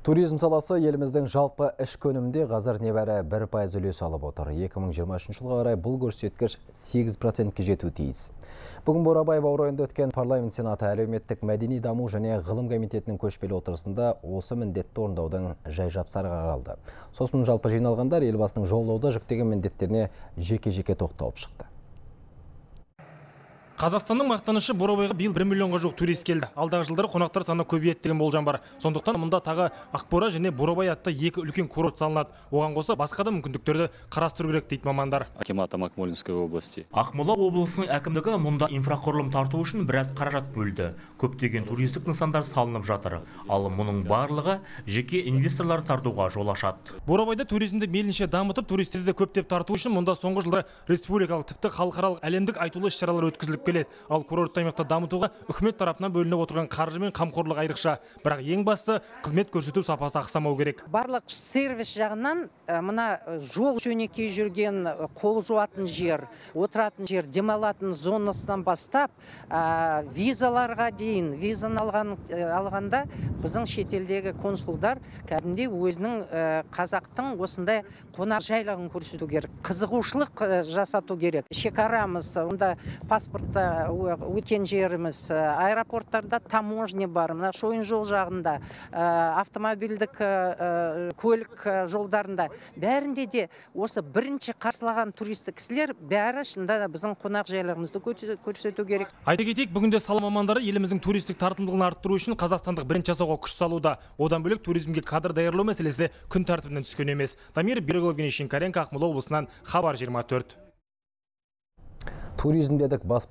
Туризм саласы еліміздің жалпы ішкі өнімде қазір небәрі 1% үлес алып отыр. 2023 жылға қарай бұл көрсеткіш 8%-ке жетуі тиіс. Бүгін Бурабай баурайында өткен парламент сенаты әлеуметтік мәдени даму және ғылым комитетінің көшпелі отырысында осы міндетті орындаудың жай-жапсары қаралды. Сосын жалпы жиналғандар елбасының жолдауда жүктеген міндеттеріне жеке-жеке тоқталып шықты. Қазақстанның мақтанышы Бурабайға биыл 1 миллионға жуық турист келді. Алдағы жылдары қонақтар саны көбейеді деген болжам бар. Сондықтан мұнда тағы Ақбура және Бурабай атты екі үлкен курорт салынады. Оған қоса басқа да мүмкіндіктерді қарастыру керек дейді мамандар. Акимата Акмолинской области. Ақмола облысының әкімдігі мұнда инфрақұрылым тарту үшін біраз қаражат бөлді. Көптеген туристік нысандар салынып жатыр. Ал мұның барлығы жеке инвесторлар тартуға жол ашады. Бурабайда туризмді мейлінше дамытып, туристерді көптеп тарту үшін мұнда соңғы жылдары республикалық тіпті халықаралық әлемдік айтулы іс-шаралар өткізіліп келеді. Ал курортты аймақта дамытуға үкімет тарапынан бөлініп отырған қаржы мен қамқорлық айрықша. Бірақ ең бастысы қызмет көрсету сапасы ақсамау керек. Барлық сервис жағынан мына жол жөнекей жүрген, қол жуатын жер, отыратын жер, демалатын зонасынан бастап визаларға дейін, визаны алғанда біздің шетелдегі консулдар кәдімгідей өзінің қазақтың осындай қонақжайлығын көрсету керек, қызығушылық жасату керек. Шекарамыз, онда паспортта өткен жеріміз, аэропорттарда таможня бар, мына шойын жол жағында, автомобильдік көлік жолдарында, бәрінде де осы бірінші қарсылаған туристік кісілер бәрі шында біздің қонақжайлығымызды көрсету керек. Айта кетейік, бүгінде сала мамандары еліміздің туристік тартымдылығын арттыру үшін қазақстандық бренд жасауға күш салуда. Одан бөлек туризмге кадр даярлау мәселесі күн тәртібінен түскен емес. Дамир Береглов, Евгений Шинкаренко, Ақмола облысынан, Хабар 24. Туризм дедік, бас